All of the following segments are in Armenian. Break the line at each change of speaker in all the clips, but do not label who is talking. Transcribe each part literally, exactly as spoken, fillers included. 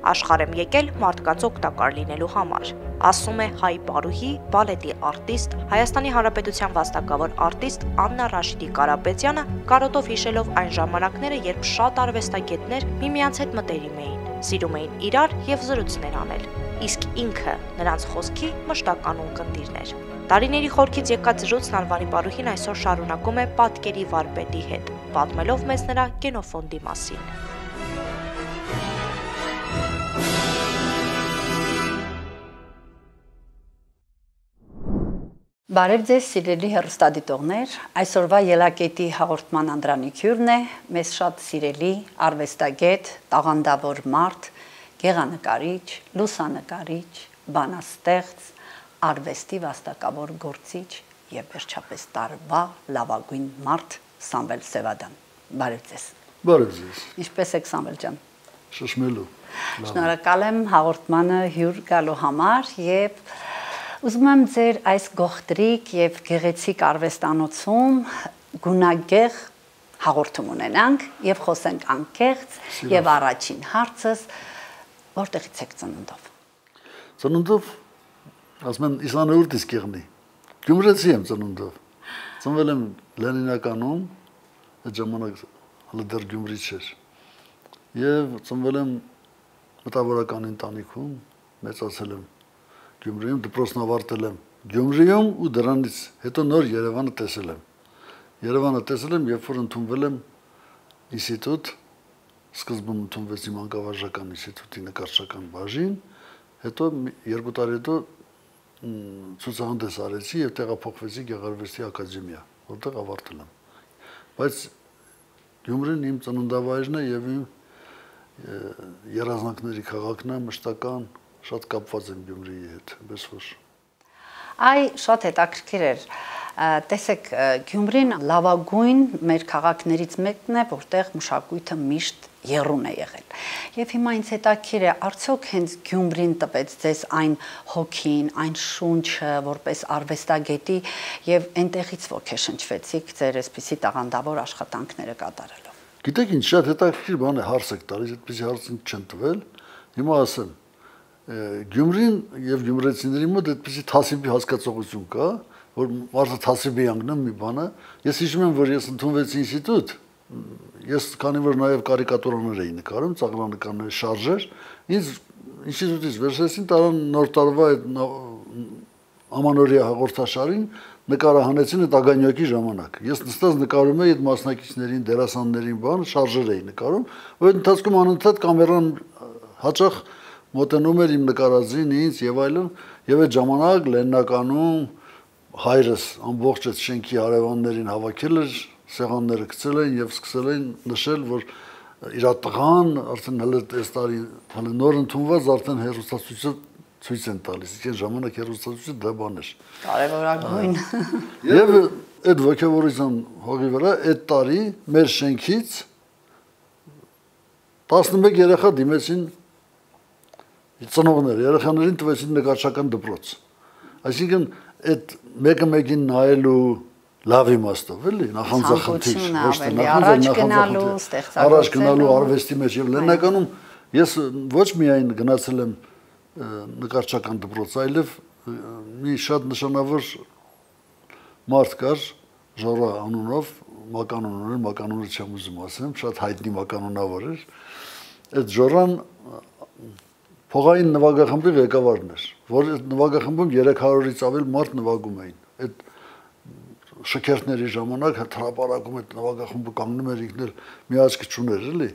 Աշխարհ եմ եկել մարդկանց օգտակար լինելու համար, ասում է հայ պարուհի, բալետի արտիստ, Հայաստանի Հանրապետության վաստակավոր արտիստ Աննա Ռաշիդի Կարապետյանը, կարոտով հիշելով այն ժամանակները, երբ շատ արվեստագետներ միմյանց հետ մտերիմ էին, սիրում էին իրար եւ զրույցներ անել, իսկ ինքը նրանց խոսքի մշտական ունկնդիրն էր։ Տարիների խորքից եկած զրույցն անվանի պարուհին այսօր շարունակում է պատկերի վարպետի հետ, պատմելով մեզ նրա գենոֆոնդի մասին։
Բարև ձեզ սիրելի հեռուստադիտողներ, այսօրվա ելակետի հաղորդման անդրանիկյուրն է մեզ շատ սիրելի արվեստագետ, տաղանդավոր մարդ, գեղանկարիչ, լուսանկարիչ, բանաստեղծ, արվեստի վաստակավոր գործիչ եւ վերջապես տարվա լավագույն մարդ Սամվել Սևադան։ Բարև ձեզ։
Բարև ձեզ։
Ինչպե՞ս եք Սամվել ջան։
Շշմելու։
Շնորհակալ եմ հաղորդմանը հյուր գալու համար եւ ուզում եմ ձեր այս գողտրիկ եւ գեղեցիկ արվեստանոցում գունագեղ հաղորդում ունենանք եւ խոսենք անկեղծ եւ առաջին հարցս որտեղից եք ծնունդով։
Ծնունդով ասում են Իսանուր դիսկերնի։ Գյումրեցի եմ ծնունդով։ Ծնվել եմ Լենինականում, այդ ժամանակ հələ դեռ Գյումրի չէր։ Եվ ծնվել եմ մտավորական ընտանիքում, մեծացել եմ Գյումրիում, դպրոցն ավարտել եմ Գյումրիում ու դրանից հետո նոր Երևանը տեսել եմ։ Երևանը տեսել եմ, երբ որ ընդունվել եմ ինստիտուտ, սկզբում ընդունվեցի մանկավարժական ինստիտուտի նկարչական բաժին, հետո երկու տարի հետո ցուցահանդես արեցի եւ տեղափոխվեցի Գեղարվեստի ակադեմիա, որտեղ ավարտել եմ։ Բայց Գյումրին իմ ծննդավայրն է եւ իմ երազանքների քաղաքն է, մշտական շատ կապված եմ Գյումրիի հետ, այնպես որ։
Այ շատ հետաքրքիր էր։ Տեսեք, Գյումրին լավագույն մեր քաղաքներից մեկն է, որտեղ մշակույթը միշտ եռուն է եղել։ Եվ հիմա ինձ հետաքրքիր է, արդյոք հենց Գյումրին տվեց ձեզ այն հոգին, այն շունչը, որպես արվեստագետի եւ այնտեղից ոգեշնչվեցիք ձեր այսպիսի տաղանդավոր աշխատանքները կատարելով։
Գիտեք ինչ, շատ հետաքրքիր բան է հարց եք տալիս, այդպեսի հարց ինձ չեն տվել։ Հիմա ասեմ, Գյումրին եւ գյումրեցիների մոտ այդպեսի թասիբի հասկացողություն կա, որ մարդը թասիբի անգնում մի բանը։ Ես հիշում եմ, որ ես ընդունվեցի ինստիտուտ, ես քանի որ նաեւ կարիկատուրաներ էի նկարում, ծաղրանկարներ, շարժեր, ինձ ինստիտուտից վերցրեցին, տարան նոր տարվա այդ ամանորյա հաղորդաշարին նկարահանեցին այդ ագանյակի ժամանակ։ Ես նստած նկարում էի այդ մասնակիցներին, դերասաններին, բան, շարժեր էի նկարում, որ ընթացքում անընդհատ կամերան հաճախ մոտենում էր իմ նկարածին ինձ եւ այլն, եւ այդ ժամանակ Լեննականում հայրս ամբողջ այդ շենքի հարևաններին հավաքել էր, սեղանները գցել էին եւ սկսել էին նշել, որ իր տղան արդեն հələ այս տարի հələ նոր ընդունված արդեն հերոստացույցը ցույց են տալիս։ Իսկ այն ժամանակ հերոստացույցը դա բան էր։
Կարևորագույն։
Եվ այդ ոգևորության հողի վրա այդ տարի մեր շենքից տասնմեկ երեխա դիմեցին ծնողներ, երեխաներին տվեցին նկարչական դպրոց։ Այսինքն այդ մեկը մեկին նայելու լավ իմաստով, էլի, նախանձախնդիր, ոչ թե նախանձախնդիր, առաջ գնալու արվեստի մեջ եւ Լեննականում ես ոչ միայն գնացել եմ նկարչական դպրոց, այլև մի շատ նշանավոր մարդ կար Ժորա անունով, մականուն ուներ, մականունը չեմ ուզում ասեմ, շատ հայտնի մականունավոր էր։ Այդ Ժորան փողային նվագախմբի ղեկավարն էր, որ նվագախմբում երեք հարյուրից ավել մարդ նվագում էին։ Այդ շքերթների ժամանակ հրապարակում այդ նվագախմբը կանգնում էր ինքն էլ մի աչք չուներ, էլի։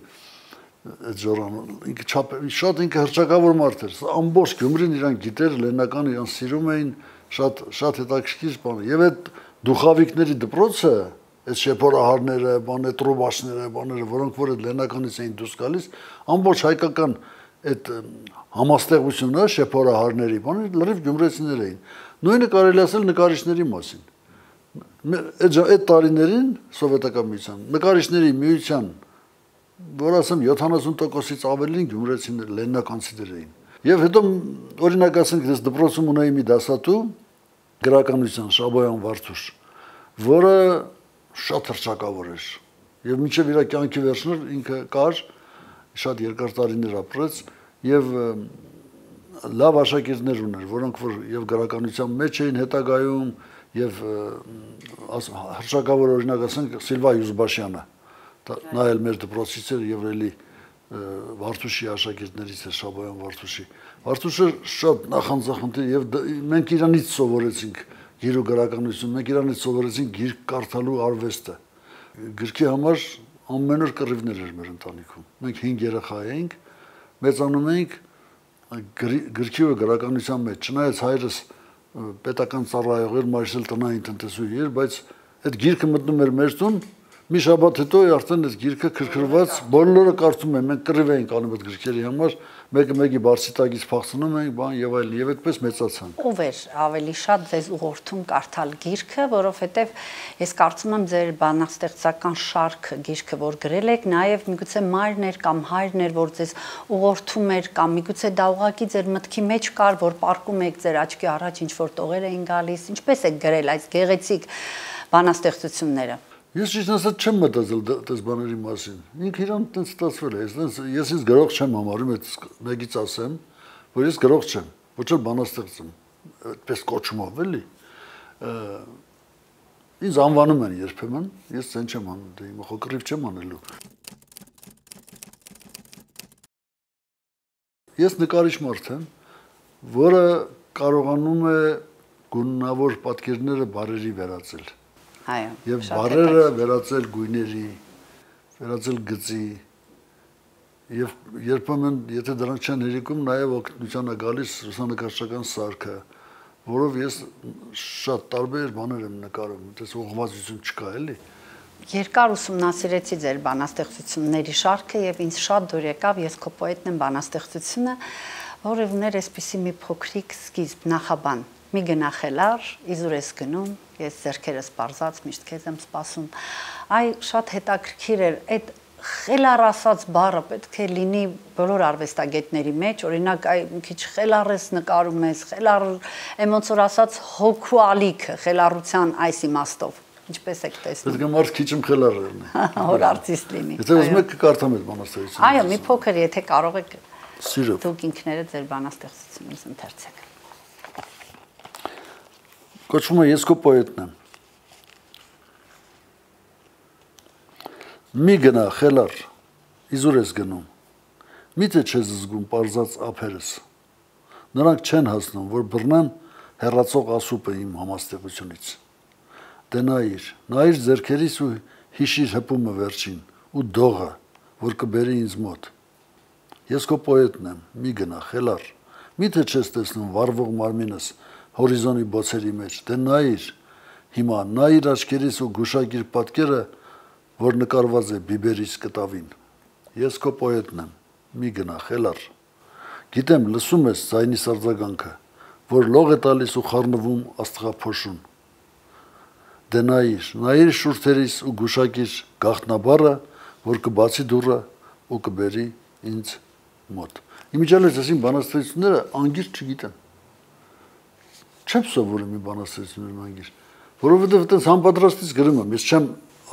Այդ Ժորանը ինքը շատ ինքը հռչակավոր մարդ էր։ Ամբողջ Գյումրին իրան գիտեր, Լեննական իրան սիրում էին, շատ շատ հետաքրքիր բան։ Եվ այդ դուխավիկների դպրոցը, այդ շեփորահարները, բանը տրուբաշները, բաները, որոնք որ այդ Լեննականից էին դուրս գալիս, ամբողջ հայկական այդ համաստեղությունը շեփորահարների բանը լրիվ գյումրեցիներ էին։ Նույնը կարելի ասել նկարիչների մասին։ Այդ այդ տարիներին սովետական միության նկարիչների միության, որ ասեմ յոթանասուն տոկոսից ավելին գյումրեցիներ, լեննականցիներ էին։ Եվ հետո օրինակ ասենք ես դպրոցում ունեի մի դասատու գրականության Շաբոյան Վարդուշ, որը շատ հռչակավոր էր։ Եվ մինչև իր կյանքի վերջն ինքը կար, շատ երկար տարիներ ապրեց, եւ լավ աշակերտներ ուներ, որոնք որ եւ գրականության մեջ էին հետագայում եւ հրաշքավոր օրինակ ասենք Սիլվա Յուզբաշյանը, նա էլ մեր դպրոցից էր եւ էլի Վարդուշի աշակերտներից էր, Շաբոյան Վարդուշի։ Վարդուշը շատ նախանձախնդիր եւ մենք իրանից սովորեցինք գիրու գրականություն, մենք իրանից սովորեցինք գիրք կարդալու արվեստը։ Գրքի համար ամեն օր կռիվներ էր մեր ընտանիքում։ Մենք հինգ երեխա էինք, մեծանում էինք գրքի ու գրականության մեջ, չնայած հայրս պետական ծառայող էր, մայրս էլ տնային տնտեսուհի էր, բայց այդ գիրքը մտնում էր մեր տուն, մի շաբաթ հետո արդեն այս գիրքը քրքրված, բոլորը կարդում են, մենք կռիվ էինք անում այդ գրքերի համար, մեկը մեկի բարձի տակից փախցնում էինք, բան եւ այլն, եւ այդպես մեծացանք։
Ով էր ավելի շատ ձեզ ուղղորդում կարդալ գիրքը, որովհետեւ ես կարծում եմ ձեր բանաստեղծական շարքը գիրքը, որ գրել եք, նաեւ միգուցե մայրն էր կամ հայրն էր, որ ձեզ ուղղորդում էր, կամ միգուցե դա ուղղակի ձեր մտքի մեջ կար, որ պարկում եք ձեր աչքի առաջ ինչ որ տողեր էին գալիս, ինչպես եք գրել այս գեղեցիկ բանաստեղծությունները։
Ես ճիշտ ասած չեմ մտածել դες բաների մասին։ Ինքը իրան տենց ստացվել է, ես ես ինձ գրող չեմ համարում, այդ մեկից ասեմ, որ ես գրող չեմ, ոչ էլ բանաստեղծ եմ, այդպես կոչումով էլի։ Ինձ անվանում են երբեմն, ես ցեն չեմ անում, դե հիմա խոկրիվ չեմ անելու։ Ես նկարիչ մարդ եմ, որը կարողանում է գունավոր պատկերները բարերի վերածել։
Այո,
եւ բարերը վերածել գույների, վերածել գծի եւ երբեմն եթե դրանք չեն հերիքում, նաեւ օգնության է գալիս լուսանկարչական սարքը, որով ես շատ տարբեր բաներ եմ նկարում, այդպես ուղղվածություն չկա, էլի։
Երկար ուսումնասիրեցի ձեր բանաստեղծությունների շարքը եւ ինձ շատ դուր եկավ, ես քո պոետն եմ բանաստեղծությունը, որը ուներ այսպիսի մի փոքրիկ սկիզբ, նախաբան։ Մի գնա խելար, իզուր ես գնում, ես ձեռքերս պարզած միշտ քեզ եմ սպասում։ Այ շատ հետաքրքիր էր այդ խելար ասած բառը պետք է լինի բոլոր արվեստագետների մեջ, օրինակ այ մի քիչ խելար ես նկարում ես, խելար ոնց որ ասած հոգու ալիքը, խելառության այս իմաստով։ Ինչպես եք տեսնում։
Պետք է մարդ քիչ եմ խելար լինի։
Որ արտիստ լինի։
Եթե ուզում եք կկարդամ այդ բանաստեղծությունը։
Այո, մի փոքր եթե կարող եք
Սիրով։
դուք ինքներդ ձեր բանաստեղծությունից ընթերցեք։
Կոչվում է ես քո պոետն եմ։ Մի գնա խելար, իզուր ես գնում։ Միթե չես զգում պարզած ափերս։ Նրանք չեն հասնում, որ բռնեն հեռացող ասուպը իմ համաստեղությունից։ Դե նայիր, նայիր ձեռքերիս ու հիշիր հպումը վերջին ու դողը, որ կբերի ինձ մոտ։ Ես քո պոետն եմ, մի գնա խելար։ Միթե չես տեսնում վառվող մարմինս հորիզոնի բոցերի մեջ, դե նայիր, հիմա նայիր աչքերիս ու գուշակիր պատկերը, որ նկարված է բիբերիս կտավին։ Ես քո պոետն եմ, մի գնա խելար։ Գիտեմ, լսում ես ձայնի սարձագանքը, որ լող է տալիս ու խառնվում աստղափոշուն։ Դե նայիր, նայիր շուրթերիս ու գուշակիր գաղտնաբառը, որ կբացի դուռը ու կբերի ինձ մոտ։ Իմիջիալից ասին բանաստեղծությունները անգիր չգիտեմ։ Չեմ սովորում մի բանաստեղծություններ անգիր, որովհետև այդպես համապատրաստից գրում եմ, ես չեմ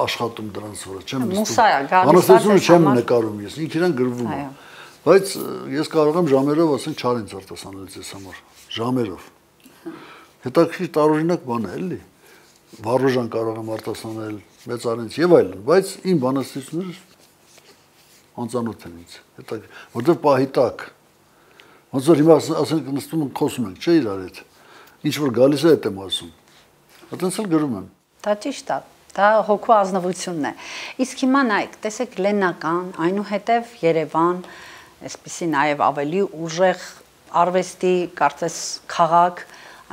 աշխատում դրանց վրա, չեմ
նստում։
Բանաստեղծությունը չեմ նկարում ես, ինքն իրան գրվում է։ Բայց ես կարող եմ ժամերով ասենք չարենց արտասանել ես համար, ժամերով։ Հետաքրքիր տարօրինակ բան է, էլի։ Վառոժան կարող եմ արտասանել, մեծ արենց եւ այլն, բայց իմ բանաստեղծությունները անծանոթ են ինձ։ Հետաքրքիր, որտեղ պահի տակ։ Ոնց որ հիմա ասենք նստում ենք խոսում ենք, չէ՞ իրար հետ։ Ինչ որ գալիս է այդ եմ ասում։ Այդպես էլ գրում եմ։
Դա ճիշտ է։ Դա հոգու ազնվությունն է։ Իսկ հիմա նայեք, տեսեք Լեննական, այնուհետև Երևան, այսպեսի նաև ավելի ուժեղ արվեստի, կարծես քաղաք,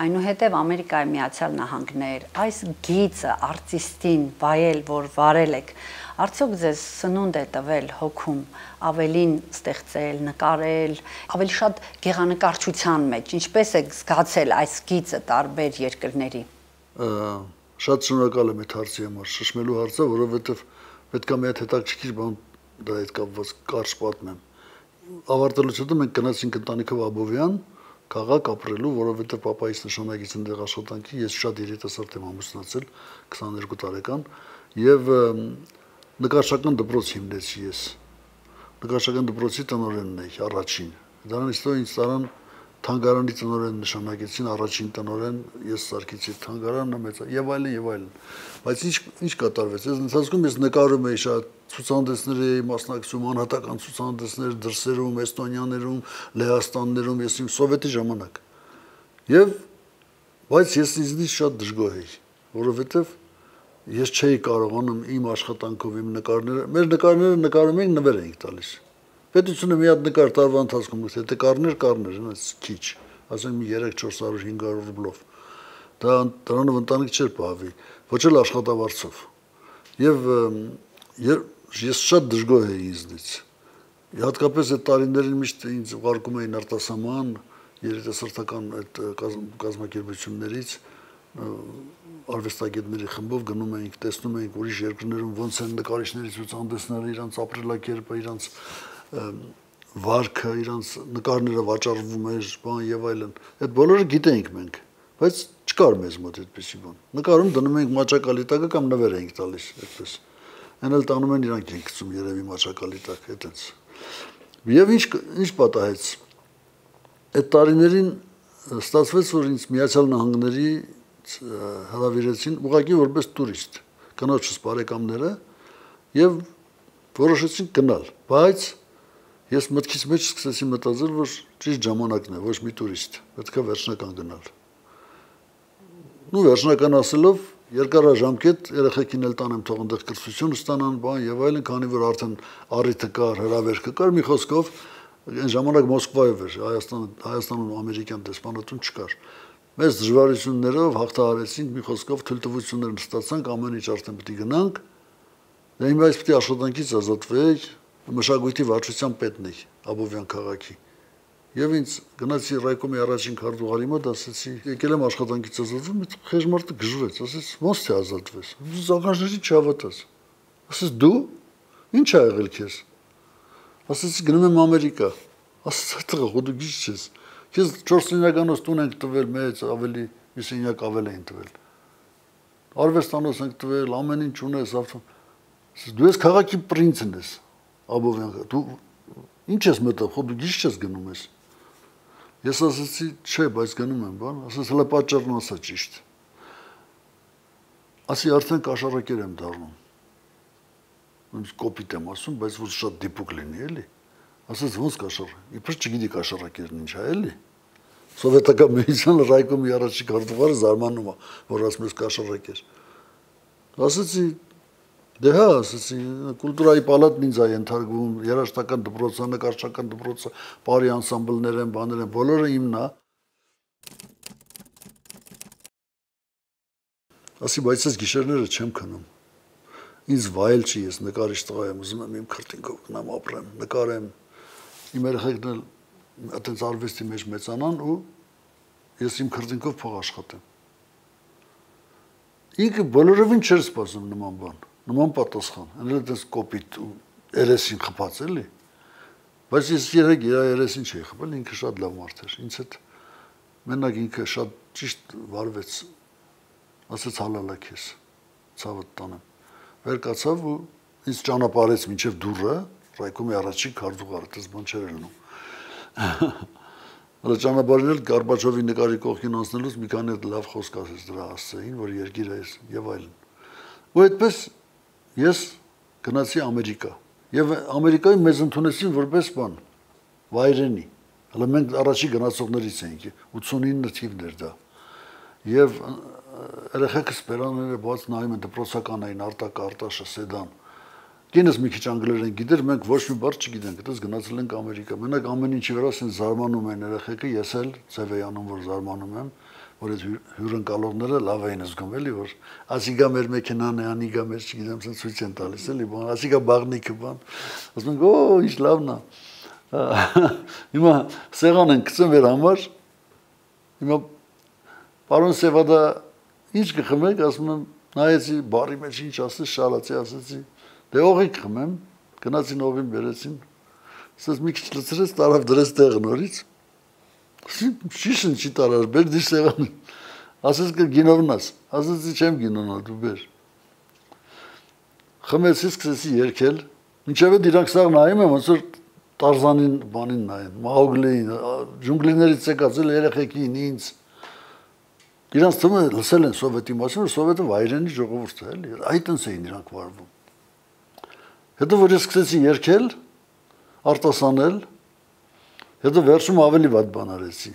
այնուհետև Ամերիկայի Միացյալ Նահանգներ, այս գիծը արտիստին վայել, որ վարել եք, արդյոք ձեզ սնունդ է տվել հոգում ավելին ստեղծել, նկարել, ավելի շատ գեղանկարչության մեջ, ինչպես եք զգացել այս գիծը տարբեր երկրների։
Շատ շնորհակալ եմ այդ հարցի համար, շշմելու հարցը, որովհետև պետք է մի հատ հետաքրքիր բան դա հետ կապված կարճ պատմեմ։ Ավարտելուց հետո մենք գնացինք ընտանիքով Աբովյան, քաղաք ապրելու, որովհետև պապայիս նշանակից ընդեղ աշխատանքի, ես շատ երիտասարդ եմ ամուսնացել, քսաներկու տարեկան, եւ նկարչական դպրոց հիմնեցի ես։ Նկարչական դպրոցի տնօրենն էի առաջին, Դրանից հետո ինձ տարան թանգարանի տնօրեն նշանակեցին, առաջին տնօրեն, ես սարքեցի թանգարանը մեծ եւ այլն եւ այլն։ Բայց ինչ ինչ կատարվեց։ Այս ընթացքում ես նկարում էի շատ ցուցահանդեսների էի մասնակցում, անհատական ցուցահանդեսներ դրսերում, Էստոնիաներում, Լեհաստաններում, ես իմ սովետի ժամանակ։ Եվ բայց ես ինձնից շատ դժգոհ էի, որովհետեւ ես չէի կարողանում իմ աշխատանքով իմ նկարները, մեր նկարները նկարում էինք, նվեր էինք տալիս։ Պետությունը մի հատ նկար տարվա ընթացքում գուցե թե կարներ, կարներ, այնպես քիչ, ասենք մի երեք չորս հարյուր հինգ հարյուր ռուբլով։ Դա դրանով ընտանիք չէր պահվի, ոչ էլ աշխատավարձով։ Եվ ես շատ դժգոհ էի ինձնից։ Հատկապես այդ տարիներին միշտ ինձ ուղարկում էին արտասահման երիտասարդական այդ կազմակերպություններից արվեստագետների խմբով գնում էինք, տեսնում էինք ուրիշ երկրներում ոնց են նկարիչների ցուցահանդեսները, իրանց ապրելակերպը, իրանց վարքը, իրանց նկարները վաճառվում էր, բան եւ այլն։ Այդ բոլորը գիտեինք մենք, բայց չկար մեզ մոտ այդպեսի բան։ Նկարում դնում էինք մաճակալիտակը կամ նվեր էինք տալիս, այդպես։ Այն էլ տանում են իրանք են գցում երևի մաճակալիտակ, այդպես։ Եվ ինչ ինչ պատահեց։ Այդ տարիներին ստացվեց, որ ինձ Միացյալ Նահանգների հրավիրեցին ուղղակի որպես տուրիստ, կնոջս բարեկամները եւ որոշեցին գնալ, բայց ես մտքից մեջ սկսեցի մտածել, որ ճիշտ ժամանակն է, ոչ մի տուրիստ, պետք է վերջնական գնալ։ Նու վերջնական ասելով երկարաժամկետ երեխեքին էլ տանեմ թող այնտեղ կրթություն ստանան, բան եւ այլն, քանի որ արդեն առիթը կար, հրավերքը կար, մի խոսքով այն ժամանակ Մոսկվայով էր, Հայաստան Հայաստանում ամերիկյան դեսպանատուն չկար։ Մեծ դժվարություններով հաղթահարեցինք, մի խոսքով թույլտվություններ ստացանք, ամեն ինչ արդեն պետք է գնանք։ Դե հիմա ես պետք է աշխատանքից ազատվեի, մշակույթի վարչության պետն էի Աբովյան քաղաքի։ Եվ ինձ գնացի ռայկոմի առաջին քարտուղարի մոտ, ասեցի, եկել եմ աշխատանքից ազատվում, այդ խեժմարտը գժվեց, ասեց, ո՞նց թե ազատվես։ Զանգաժների չհավատաց։ Ասեց, դու ի՞նչ ա եղել քեզ։ Ասեցի, գնում եմ Ամերիկա։ Ասեց, այդտեղ դու գիծ չես։ Քեզ չորս սենյականոց տուն ենք տվել, մեծ ավելի մի սենյակ ավել են տվել։ Արվեստանոց ենք տվել, ամեն ինչ ունես, ավտո։ Դու ես քաղաքի պրինցն ես, Աբովյան, դու ինչ ես մտածում, խո դու գիծ չես գնում ես։ Ես ասացի, չէ, բայց գնում եմ, բան, ասես հələ պատճառն ասա ճիշտ։ Ասի արդեն կաշառակեր եմ դառնում։ Ոնց կոպիտ եմ ասում, բայց որ շատ դիպուկ լինի, էլի։ Ասես ոնց կաշառ։ Իբր չգիտի կաշառակերն ինչ է, էլի։ Սովետական միության ռայկոմի առաջի քարտուղարը զարմանում է, որ ասում ես կաշառակեր։ Ասեցի, դե հա, ասեցի, կուլտուրայի պալատն ինձ է ենթարկվում, երաժշտական դպրոցը, նկարչական դպրոցը, բարի անսամբլներ են, բաներ են, բոլորը իմն է։ Ասի, բայց ես գիշերները չեմ քնում։ Ինձ վայել չի, ես նկարիչ տղա եմ, ուզում եմ իմ քրտինքով գնամ ապրեմ, նկարեմ։ Իմ երեխեքն էլ այդպես արվեստի մեջ մեծանան ու ես իմ քրտինքով փող աշխատեմ։ Ինքը բոլորովին չէր սպասում նման բան, նման պատասխան, այնպես այդպես կոպիտ ու երեսին խփած էլի։ Բայց ես երեք իր երեսին չէի խփել, ինքը շատ լավ մարդ էր։ Ինձ հետ մենակ ինքը շատ ճիշտ վարվեց։ Ասեց հալալա քեզ, ցավդ տանեմ։ Վեր կացավ ու ինձ ճանապարհեց մինչև դուռը, ռայկոմի առաջին քարտուղարը, դες բան չէր ելնում։ Հələ ճանապարհին էլ Գորբաչովի նկարի կողքին անցնելուց մի քանի լավ խոսք ասեց դրա հասցեին, որ երկիրը է եւ այլն։ Ու այդպես ես գնացի Ամերիկա։ Եվ Ամերիկայում մեզ ընդունեցին որպես բան, վայրենի։ Հələ մենք առաջի գնացողներից էինք, ութսունինը թիվն էր դա։ Եվ երեխեքս բերանները բաց նայում են դպրոցական էին, Արտակ, Արտաշը, Սեդան։ Կինս մի քիչ անգլերեն գիտեր, մենք ոչ մի բառ չգիտենք, այդպես գնացել ենք Ամերիկա։ Մենակ ամեն ինչի վրա ասեն զարմանում են երեխեքը, ես էլ ձև էի անում, որ զարմանում եմ, որ այդ հյուրընկալողները լավ էին զգում, էլի, որ ասիգա մեր մեքենան է, անիգա մեր, չգիտեմ, ասեն ցույց են տալիս, էլի, բան, ասիգա բաղնիկը, բան։ Ասում ենք, օ, ինչ լավն է։ Հիմա սեղան են գցում մեր համար։ Հիմա պարոն Սևադա ինչ կխմեք, ասում եմ, նայեցի բարի մեջ ինչ ասես, շալացի, ասեցի, դե օղիկ խմեմ, գնացին օղին բերեցին, ասես մի քիչ լցրեց, տարավ դրեց տեղը նորից, շիշն չի տարար, բեր դի սեղան, ասես կր գինովնաս, ասեցի չեմ գինոնա, դու բեր, խմեցի, սկսեցի երկել, մինչև էդ իրանք սաղ նայում եմ, ոնց որ Տարզանին բանին նայեն, Մաուգլիին, ջունգլիներից եկած երեխեքին ինձ իրանց թվում է լսել են սովետի մասին, որ սովետը վայրենի ժողովուրդ է, էլի, այդտենց էին իրանք վարվում։ Հետո որ ես սկսեցի երգել, արտասանել, հետո վերջում ավելի վատ բան արեցի։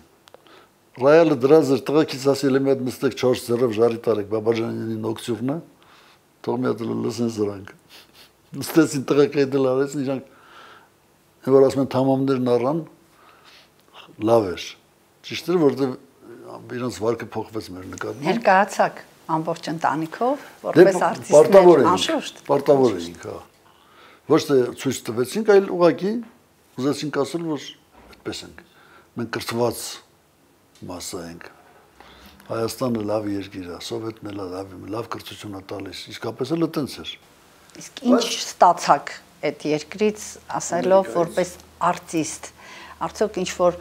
Ռայալը դրած էր տղեկից ասել եմ այդ նստեք չորս ձեռով ժարի տարեք Բաբաջանյանի նոկտյուրնը, թող մի հատ լսեն սրանք։ Նստեցին տղեկը դել արեցին իրանք որ ասում են թամամներն առան լավ էր։ Ճիշտ է, որտեղ իրենց վարկը փոխվեց մեր նկատմամբ։
Ներկայացաք ամբողջ ընտանիքով, որպես արտիստներ, անշուշտ։
Պարտավոր էինք, հա։ Ոչ թե ցույց տվեցինք, այլ ուղղակի ուզեցինք ասել, որ այդպես ենք։ Մենք կրթված մասա ենք։ Հայաստանը լավ երկիր է, Սովետն էլ լավ է, լավ կրթություն է տալիս։ Իսկապես էլ այդպես էր։
Իսկ ինչ ստացաք այդ երկրից ասելով որպես արտիստ, արդյոք ինչ որ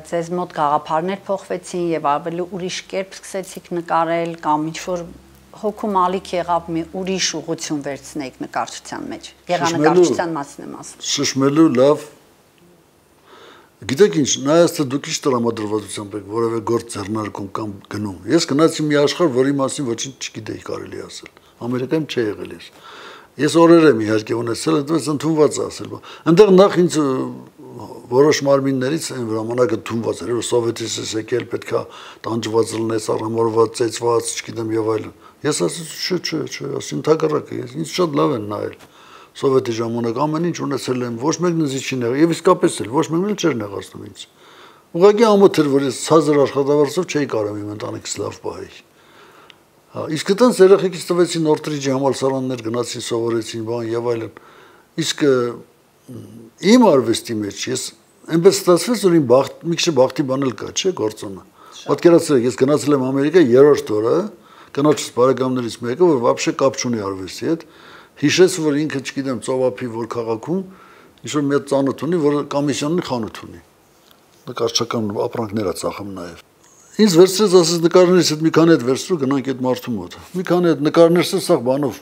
ձեզ մոտ գաղափարներ փոխվեցին եւ ավելի ուրիշ կերպ սկսեցիք նկարել կամ ինչ որ հոգու մալիք եղավ մի ուրիշ ուղղություն վերցնեիք նկարչության մեջ։ Գեղանկարչության մասին եմ ասում։
Շշմելու լավ։ Գիտեք ինչ, նայած թե դուք ինչ տրամադրվածությամբ եք որևէ գործ ձեռնարկում կամ գնում։ Ես գնացի մի աշխարհ, որի մասին ոչինչ չգիտեի կարելի ասել։ Ամերիկայում չի եղել ես։ Ես օրեր եմ իհարկե ունեցել, այդպես ընդունված ասել։ Այնտեղ նախ ինձ որոշ մարմիններից այն ժամանակը ընդունված էր, որ սովետից էս եկել, պետքա տանջված լինես, առամորված, ծեծված, չգիտեմ եւ այլն։ Ես ասեցի, չէ, չէ, չէ, ասին թակարակը, ինձ շատ լավ են նայել։ Սովետի ժամանակ ամեն ինչ ունեցել եմ, ոչ մեկն ինձ չի նեղացել, եւ իսկապես էլ ոչ մեկն էլ չէր նեղացնում ինձ։ Ուղղակի ամոթ էր, որ ես ցածր աշխատավարձով չէի կարող իմ ընտանիքս լավ պահել։ Իսկ այդտենց երեխեքից տվեցին Նորթրիջի համալսարաններ գնացին սովորեցին բան եւ այլն։ Իսկ իմ արվեստի մեջ ես այնպես ստացվեց որ իմ բախտ մի քիչ բախտի բան էլ կա, չէ՞ գործոնը։ Պատկերացրեք, ես գնացել եմ Ամերիկա երրորդ օրը, կնոջս բարեկամներից մեկը, որ вообще կապ չունի արվեստի հետ, հիշեց որ ինքը, չգիտեմ, ծովափի որ քաղաքում ինչ որ մի ծանոթ ունի, որ կոմիսիոնի խանութ ունի։ Նկարչական ապրանքներ է ծախում նաեւ։ Ինձ վերցրեց ասես նկարներից հետ մի քանի հետ վերցրու գնանք այդ մարդու մոտ։ Մի քանի հետ նկարներ սա բանով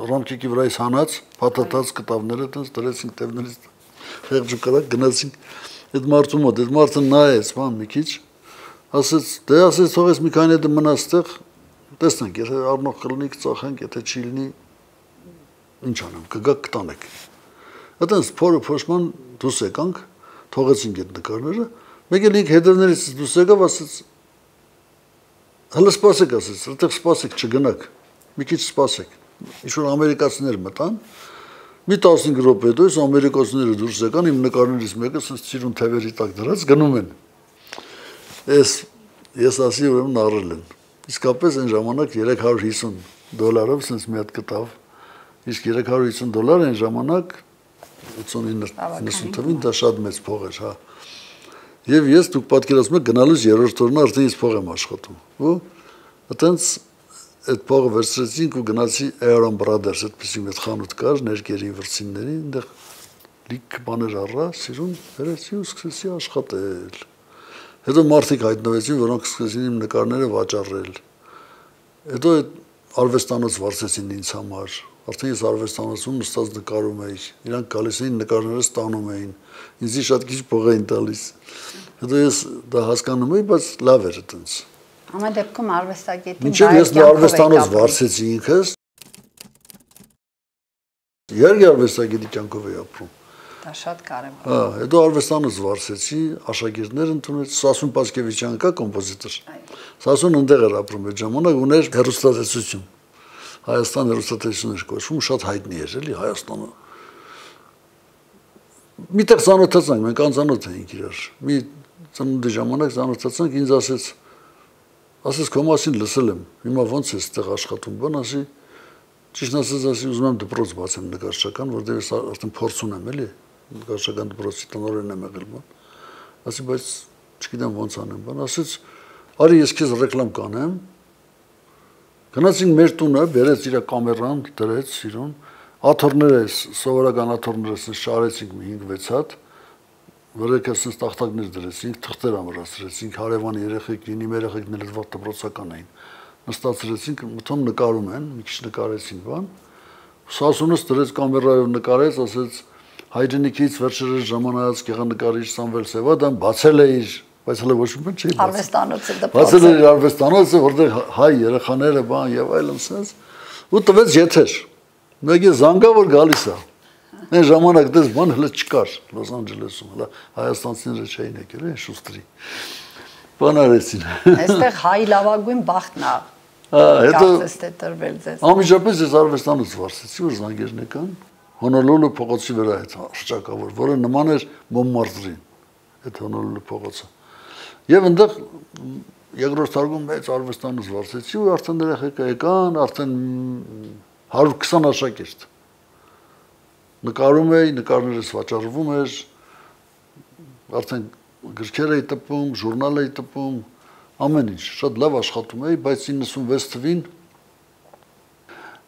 ռամկիկի վրայից հանած, փաթաթած կտավները տենց դրեցինք տևներից խեղճու կրակ գնացինք այդ մարդու մոտ։ Այդ մարդը նայեց, բան մի քիչ, ասեց, դե ասեց թողես մի քանի հետ մնաց այդտեղ, տեսնենք, եթե առնող կլինի կծախենք, եթե չի լինի ինչ անեմ, կգաք կտանեք։ Այդպես փորը փոշման դուրս եկանք, թողեցինք այդ նկարները, մեկ էլ ինք հետևներից դուրս եկավ, ասեց հələ սպասեք, ասեց, այդտեղ սպասեք, չգնաք, մի քիչ սպասեք։ Ինչ-որ ամերիկացիներ մտան, մի տասնհինգ րոպե հետո այս ամերիկացիները դուրս եկան, իմ նկարներից մեկը ասեց ծիրուն թևերի տակ դրած գնում են։ Ես ես ասի ուրեմն առել են։ Իսկապես այն ժամանակ երեք հարյուր հիսուն դոլարով sense մի հատ կտավ։ Իսկ երեք հարյուր հիսուն դոլար այն ժամանակ ութսունինը թվին դա շատ մեծ փող էր, հա։ Եվ ես դուք պատկերացնում եք գնալուց երրորդ օրն արդեն ես փող եմ աշխատում։ Ու այտենց այդ փողը վերցրեցինք ու գնացի Aaron Brothers, այդպեսի մի խանութ կար, ներկերի վրցինների, այնտեղ լիք բաներ առա, սիրուն վերեցի ու սկսեցի աշխատել։ Հետո մարդիկ հայտնվեցին, որոնք սկսեցին իմ նկարները վաճառել։ Հետո այդ արվեստանոց վարձեցին ինձ համար։ Արդեն ես արվեստանոցում նստած նկարում էի։ Իրանք գալիս էին նկարները ստանում էին։ Ինձի շատ քիչ փող էին տալիս։ Հետո ես դա հասկանում էի, բայց լավ էր այդպես։
Ամեն դեպքում արվեստագետին
մինչև ես արվեստանոց վարձեցի ինքս։ Երկու արվեստագետի կյանքով էի ապրում։
Դա շատ կարևոր։
Հա, հետո արվեստանոց վարձեցի, աշակերտներ ընդունեց, Սասուն Պասկևիչյան կա կոմպոզիտոր։ Սասուն ընդեղ էր ապրում այդ ժամանակ, ուներ հեռուստատեսություն։ Հայաստան հեռուստատեսություն էր կոչվում, շատ հայտնի էր, էլի Հայաստանը։ Միտեղ ծանոթացանք, մենք անծանոթ էինք իրար։ Մի ծնունդի ժամանակ ծանոթացանք, ինձ ասեց, ասես քո մասին լսել եմ, հիմա ո՞նց ես այդտեղ աշխատում, բան ասի, ճիշտ ասած ասի ուզում եմ դպրոց բացեմ նկարչական, որտեղ ես արդեն փորձ ունեմ, էլի, նկարչական դպրոցի տնօրեն եմ եղել, բան։ Ասի, բայց չգիտեմ ո՞նց անեմ, բան, ասեց, արի ես քեզ ռեկլամ կանեմ։ Գնացինք մեր տունը, բերեց իր կամերան, դրեց իրուն, աթոռները, սովորական աթոռները շարեցինք մի հինգ-վեց հատ, վրեքը ասես տախտակներ դրեցինք, թղթեր ամրացրեցինք, հարևանի երեխեքին, իմ երեխեքն էլ վաղ դպրոցական էին։ Նստացրեցինք, մտում նկարում են, մի քիչ նկարեցին բան։ Սասունս դրեց կամերայով նկարեց, ասեց հայրենիքից վերջերս ժամանած գեղանկարիչ Սամվել Սևադան բացել է իր, բայց հələ ոչ մի բան չի
արվեստանոցը դպրոցը։
Բացել է իր արվեստանոցը, որտեղ հայ երեխաները բան եւ այլն ասած, ու տվեց եթեր։ Մեկը զանգավոր գալիս է։ Այն ժամանակ դες բան հələ չկար Լոս Անջելեսում, հələ հայաստանցիները չէին եկել, այն շուստրի։ Բան արեցին։
Այստեղ հայ լավագույն բախտն է։
Հետո
տրվել ձեզ։
Ամիջապես ես արվեստանոց վարսեցի, որ զանգերն եկան, Հոնոլուլու փողոցի վրա այդ հռչակավոր, որը նման էր Մոնմարտրին, այդ Հոնոլուլու փողոցը։ Եվ այնտեղ երկրորդ թարգում մեծ արվեստանոց վարսեցի ու արդեն երեխեքները եկան, արդեն հարյուր քսան աշակերտ։ Նկարում էի, նկարներս վաճառվում էր, արդեն գրքեր էի տպում, ժուրնալ էի տպում, ամեն ինչ, շատ լավ աշխատում էի, բայց իննսունվեց թվին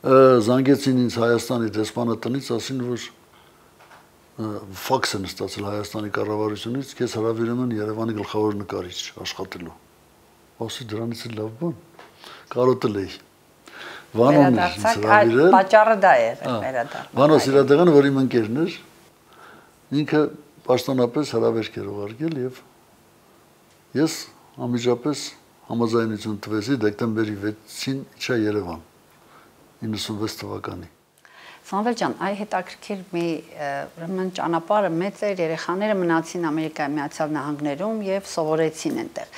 զանգեցին ինձ Հայաստանի դեսպանը տնից, ասին, որ ֆաքս են ստացել Հայաստանի կառավարությունից, քեզ հրավիրում են Երևանի գլխավոր նկարիչ աշխատելու։ Ասի դրանից է լավ բան, կարոտել էի։ Վանոն էր ինձ հրավիրել։
Պատճառը դա է վերադառնում։
Վանո Սիրադեղանը, որ իմ ընկերն էր, ինքը պաշտոնապես հրավերք էր ուղարկել եւ ես ամիջապես համաձայնություն տվեցի դեկտեմբերի վեցին իջա Երևան իննսունվեց թվականի։
Սամվել ջան, այ հետաքրքիր մի ուրեմն ճանապարհը մեծ էր, երեխաները մնացին Ամերիկայի Միացյալ Նահանգներում եւ սովորեցին այնտեղ։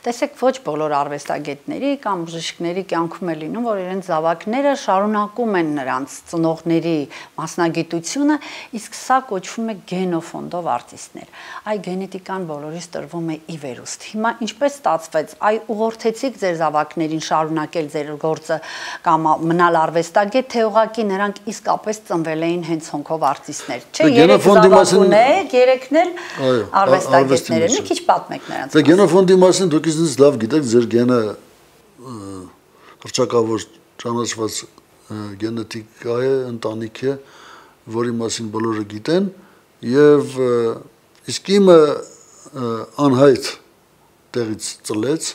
Տեսեք, ոչ բոլոր արվեստագետների կամ բժիշկների կյանքում է լինում, որ իրենց զավակները շարունակում են նրանց ծնողների մասնագիտությունը, իսկ սա կոչվում է գենոֆոնդով արտիստներ։ Այ գենետիկան բոլորիս տրվում է ի վերուստ։ Հիմա ինչպես ստացվեց, այ ուղղորդեցիք ձեր զավակներին շարունակել ձեր գործը կամ մնալ արվեստագետ, թե ուղղակի նրանք իսկապես ծնվել էին հենց հոնքով արտիստներ։ Չէ, երեք զավակ ունեք, երեքն էլ արվեստագետներ են։ Մի քիչ պատմեք նրանց։
Դե գենոֆոնդի մասին դուք ինձ լավ գիտեք, ձեր գենը հռչակավոր ճանաչված գենետիկա է, ընտանիք է, որի մասին բոլորը գիտեն, եւ իսկ իմը անհայտ տեղից ծլեց,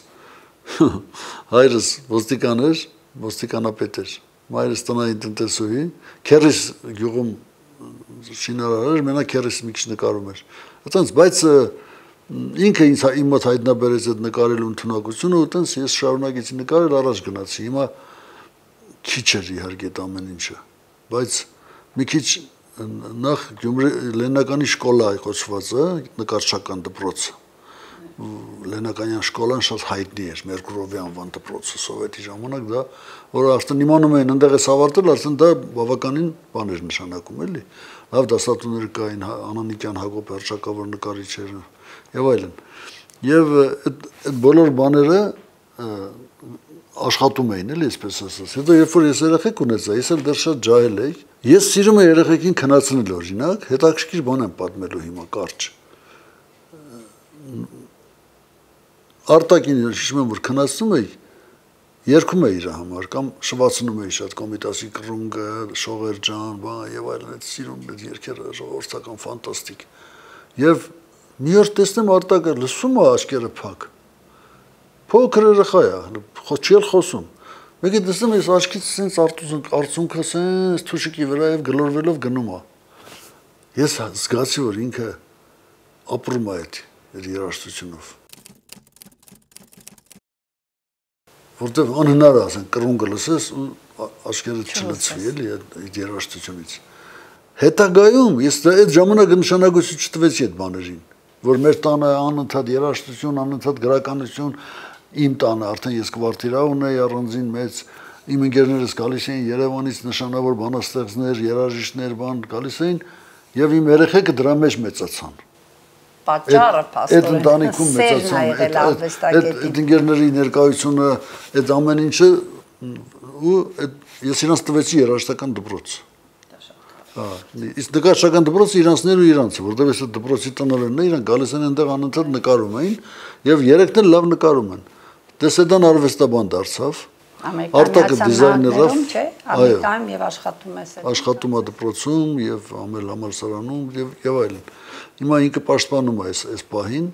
հայրս ոստիկան էր, ոստիկանապետ էր, մայրս տնային տնտեսուհի, քերիս գյուղում շինարար էր, մենակ քերիս մի քիչ նկարում էր։ Այդտենց, բայց ինքը ինձ իմ մոտ հայտնաբերեց այդ նկարելու ընդունակությունը, ու տենց ես շարունակեցի նկարել, առաջ գնացի։ Հիմա քիչ էր իհարկե այդ ամեն ինչը, բայց մի քիչ նախ Գյումրի Լեննականի շկոլա է կոչվածը, նկարչական դպրոցը։ Լենականյան շկոլան շատ հայտնի էր, Մերկուրովի անվան դպրոցը, սովետի ժամանակ դա, որը արդեն իմանում էին ընդեղ էս ավարտել, արդեն դա բավականին բան էր նշանակում, էլի։ Լավ դասատուներ կային, Անանիկյան Հակոբ հռչակավոր նկարիչերը եւ այլն։ Եվ այդ բոլոր բաները աշխատում էին, էլի, այսպես ասած։ Հետո երբ որ ես երեխեք ունեցա, ես էլ դեռ շատ ջահել էի, ես սիրում եմ երեխեքին քնացնել, օրինակ, հետաքրքիր բան եմ պատմելու հիմա կարճ։ Արտակին հիշում եմ, որ քնացնում էի, երգում էի իր համար, կամ շվացնում էի շատ Կոմիտասի կռունգը, Շողերջան, բան եւ այլն, այդ սիրում այդ երգերը ժողովրդական ֆանտաստիկ։ Եվ մի օր տեսնեմ Արտակը լսում է աչքերը փակ։ Փոքր երեխա է, չի էլ խոսում։ Մեկը տեսնում ես աչքից sense արցունքը sense թուշիկի վրա եւ գլորվելով գնում է։ Ես զգացի, որ ինքը ապրում է այդ երաժշտությունով։ Որտեվ անհնար է ասեն կռունգը լսես ու աչքերը չլցվի էլի այդ երաժշտությունից։ Հետագայում ես այդ ժամանակ նշանակություն չտվեցի այդ բաներին, որ մեր տանը անընդհատ երաժշտություն, անընդհատ գրականություն, իմ տանը արդեն ես կվարտիրա ունեի առանձին մեծ, իմ ընկերներս գալիս էին Երևանից նշանավոր բանաստեղծներ, երաժիշտներ, բան գալիս էին եւ իմ երեխեքը դրա մեջ մեծացան։
Պատճառը փաստորեն
այդ ընտանիքում մեծացան, այդ ընկերների ներկայությունը, այդ ամեն ինչը ու ես իրանց տվեցի երաժշտական դպրոց։ Հա, իսկ նկարչական դպրոցը իրանցներ ու իրանցը, որտեղ այս դպրոցի տնօրենն է, իրանք գալիս են այնտեղ անընդհատ նկարում էին եւ երեքն էլ լավ նկարում են։ Տեսեդան արվեստաբան դարձավ։ Արտակը դիզայներով,
չէ, Ամերիկայում եւ աշխատում է սա։
Աշխատում է դպրոցում եւ ամել համալսարանում եւ եւ այլն։ Հիմա ինքը պաշտպանում է այս այս պահին,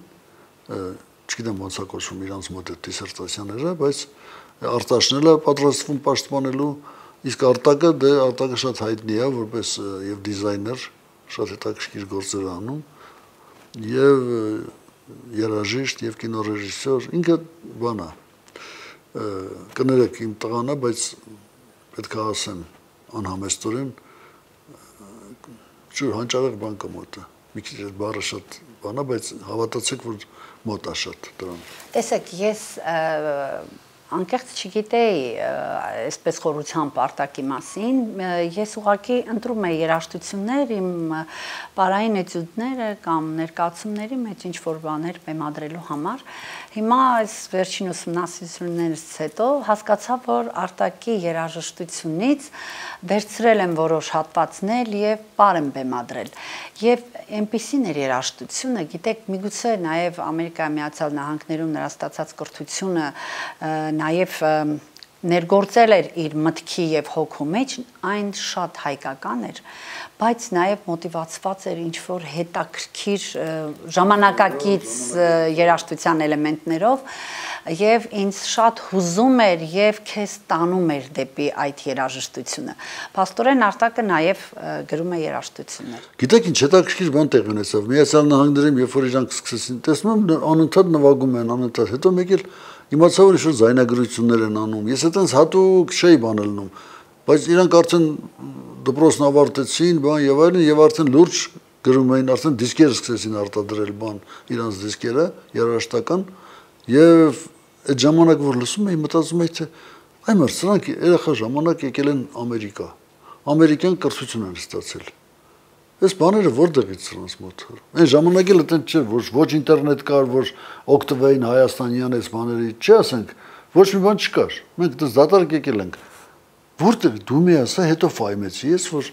չգիտեմ ոնց է կոչվում իրանց մոտ այդ դիսերտացիաները, բայց Արտաշնելը պատրաստվում պաշտպանելու, իսկ Արտակը դե Արտակը շատ հայտնի է որպես եւ դիզայներ, շատ հետաքրքիր գործեր անում եւ երաժիշտ եւ կինոռեժիսոր, ինքը բան է, կներեք իմ տղան է, բայց պետք է ասեմ անհամեստորեն, ջուր հանճարեղ բան կա մոտը, մի քիչ այդ բառը շատ բան է, բայց հավատացեք, որ մոտ է շատ դրան։
Տեսեք, ես անկեղծ չգիտեի այսպես խորությամբ արտակի մասին, ես ուղղակի ընտրում եի երաժշտություններ իմ պարային էտյուդները կամ ներկայացումների մեջ ինչ-որ բաներ բեմադրելու համար։ Հիմա այս վերջին ուսումնասիրություններից հետո հասկացա, որ արտակի երաժշտությունից վերցրել եմ որոշ հատվածներ եւ պար եմ բեմադրել։ Եվ այնպիսին էր երաժշտությունը, գիտեք, միգուցե նաեւ Ամերիկայի Միացյալ Նահանգներում նրա ստացած կրթությունը նաև ներգործել էր իր մտքի եւ հոգու մեջ, այն շատ հայկական էր, բայց նաև մոտիվացված էր ինչ-որ հետաքրքիր ժամանակակից երաժշտության էլեմենտներով եւ ինձ շատ հուզում էր եւ քեզ տանում էր դեպի այդ երաժշտությունը։ Փաստորեն Արտակը նաև գրում է երաժշտություններ։
Գիտեք ինչ հետաքրքիր բան տեղի ունեցավ։ Միացյալ Նահանգներում երբ որ իրանք սկսեցին, տեսնում եմ անընդհատ նվագում են, անընդհատ, հետո մեկ էլ իմացա որ ինչ-որ զայնագրություններ են անում։ Ես այդպես հատուկ չէի բան ելնում, բայց իրանք արդեն դպրոցն ավարտեցին, բան եւ այլն, եւ արդեն լուրջ գրում էին, արդեն դիսկեր սկսեցին արտադրել բան, իրանց դիսկերը երաժշտական, եւ այդ ժամանակ որ լսում էի, մտածում էի թե այ մար սրանք երեխա ժամանակ եկել են Ամերիկա, ամերիկյան կրթություն են ստացել։ Այս բաները որտեղից սրանց մոտ։ Այն ժամանակ էլ այդպես չէր, որ ոչ ինտերնետ կար, որ օգտվեին հայաստանյան այս բաների, չի ասենք, ոչ մի բան չկար։ Մենք դες դատարկ եկել ենք։ Որտեղ դու մի ասա, հետո ֆայմեցի ես, որ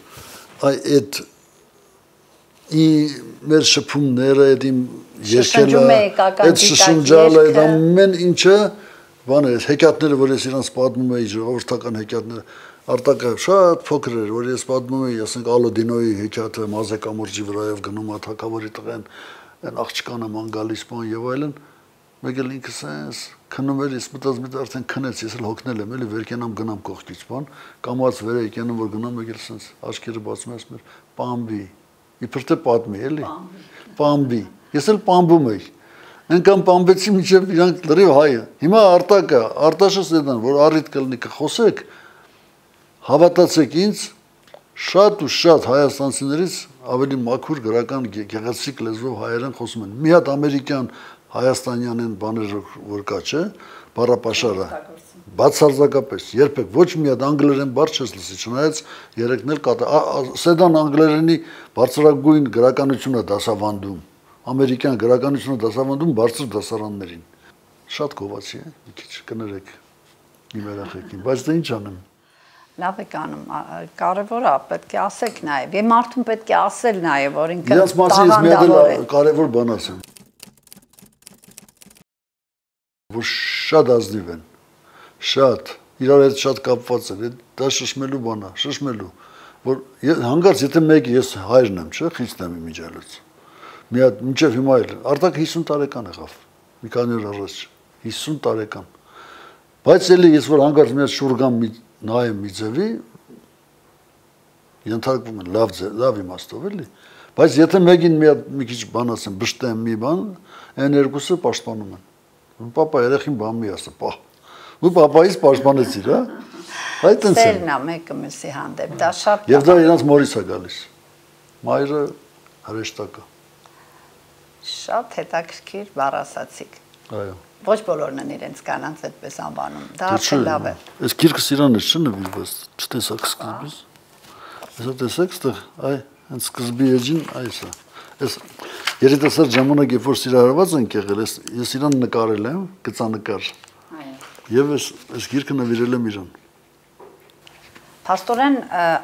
այ այդ ի մեր շփումները, այդ իմ երկելը, այդ շշնջալը, այդ ամեն ինչը, բան է, հեքիաթները, որ ես իրանց պատմում էի, ժողովրդական հեքիաթները, Արտակը շատ փոքր էր, որ ես պատմում էի, ասենք Ալոդինոյի հեքիաթը Մազե կամուրջի վրայով գնում է թագավորի տղեն, այն աղջկանը ման գալիս բան եւ այլն, մեկ էլ ինքս էս քնում էր, ես մտածում եմ արդեն քնեց, ես էլ հոգնել եմ, էլի վեր կենամ գնամ կողքից բան, կամած վեր եկենամ որ գնամ, մեկ էլ սենց աչքերը բացում եմ, ասում եմ պամբի, իբր թե պատմի, էլի, պամբի, ես էլ պամբում էի, այնքան պամբեցի մինչև իրանք լրիվ հայը, հիմա Արտակը, Արտաշը սեդան, որ առիթ կլինի կխոսեք, հավատացեք ինձ, շատ ու շատ հայաստանցիներից ավելի մաքուր գրական գեղեցիկ լեզվով հայերեն խոսում են։ Մի հատ ամերիկյան հայաստանյան են բաներ որ կա, չէ, բառապաշարը։ Բացարձակապես, երբեք ոչ մի հատ անգլերեն բառ չես լսի, չնայած երեքն էլ կա, սեդան անգլերենի բարձրագույն գրականությունը դասավանդում, ամերիկյան գրականությունը դասավանդում բարձր դասարաններին։ Շատ գովացի է, մի քիչ կներեք իմ երախեքին, բայց դա ինչ անեմ։
Լավ եք անում, կարևոր է, պետք է ասեք նաև, եւ մարդուն պետք է ասել նաև, որ ինքը
Իրանց մասին ես մի հատ կարևոր բան ասեմ, որ շատ ազնիվ են, շատ, իրար հետ շատ կապված են, դա շշմելու բան է, շշմելու, որ հանգարց եթե մեկը ես հայրն եմ, չէ, խիցն եմ իմ իջալուց, մի հատ մինչև հիմա էլ, Արտակը հիսուն տարեկան եղավ, մի քանի օր առաջ, հիսուն տարեկան, բայց էլի ես որ հանգարց մի հատ շուրգամ նայեմ մի ձևի, ենթարկվում են լավ, լավ իմաստով էլի, բայց եթե մեկին մի, մի քիչ բան ասեմ, բշտեմ մի բան, այն երկուսը պաշտպանում են, պապա երեխին բան մի ասա, պահ, ու պապայից պաշտպանեցիր, հա, այդ ընց է։
Սերն է մեկը մյուսի հանդեպ, դա շատ
Եվ դա իրանց մորից է գալիս, մայրը հրեշտակը։
Շատ հետաքրքիր բառ ասացիք։
Այո։
Ոչ բոլորն են իրենց կանանց այդպես անվանում, դա արդեն լավ է։
Այս գիրքս իրան է չնվիրված, չտեսակ սկզբից։ Այսա տեսեք, ստեղ, այ, հենց սկզբի էջին, այս է։ Այս երիտասարդ ժամանակ, երբ որ սիրահարված ենք եղել, ես իրան նկարել եմ, գծանկար։ Եվ այս գիրքը նվիրել եմ իրան։
Փաստորեն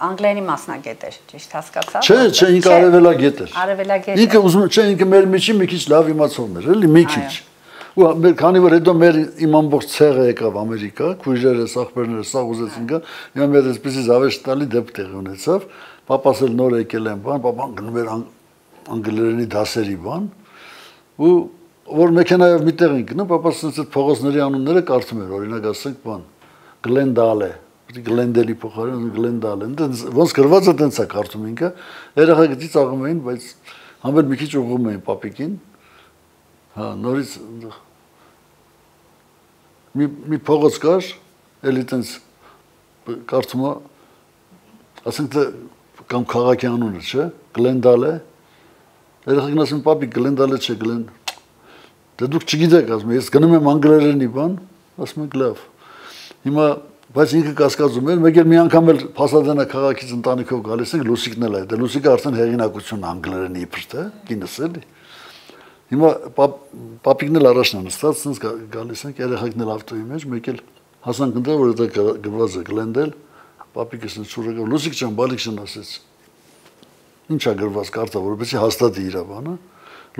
անգլերենի մասնագետ էր, ճիշտ հասկացա՞ք։
Չէ, չէ, ինքը արևելագետ էր։
Արևելագետ։
Ինքը ուզում չէ, ինքը մեր միջի մի քիչ լավ իմացողն էր, էլի մի քիչ։ Ու մեր քանի որ հետո մեր իմ ամբողջ ցեղը եկավ Ամերիկա, քույրերը, ախպերները սաղ ուզեցին գա, հիմա մեր այսպեսի զավեշտ տալի դեպք տեղի ունեցավ, պապաս էլ նոր եկել են բան, պապան գնում էր անգլերենի դասերի բան, ու որ մեքենայով միտեղ են գնում, պապաս ասեց այդ փողոցների անունները կարդում էր, օրինակ ասենք բան, Գլենդալե, Գլենդելի փոխարեն Գլենդալ են, ոնց գրված է տենց է կարծում ինքը, երեխա գտի ծաղում էին, բայց համբեր մի քիչ ուղղում էին պապիկին, հա, նորից մի մի փողոց կար, էլի տենց կարծում է, ասենք թե կամ քաղաքի անունը, չէ, Գլենդալ է, երեխան ասում պապիկ Գլենդալ է չէ, Գլեն, դե դուք չգիտեք, ասում ես գնում եմ անգլերենի բան, ասում եք լավ, հիմա բայց ինքը կասկածում էր, մեկ էլ մի անգամ էլ Փասադենա քաղաքից ընտանիքով գալիս ենք, Լուսիկն էլ է, դե Լուսիկը արդեն հեղինակություն անգլերենի իբր թե, կինս էլի։ Հիմա պապիկն էլ առաջն է նստած, ցած գալիս ենք, երեխաքն էլ ավտոյի մեջ, մեկ էլ հասանք ընդ որ դա գրված է Գլենդել, պապիկս ինձ շուրը գա, Լուսիկ ջան, բալիկշն ասեց։ Ինչ է գրված կարտա, որովհետեւ հաստատի իր բանը։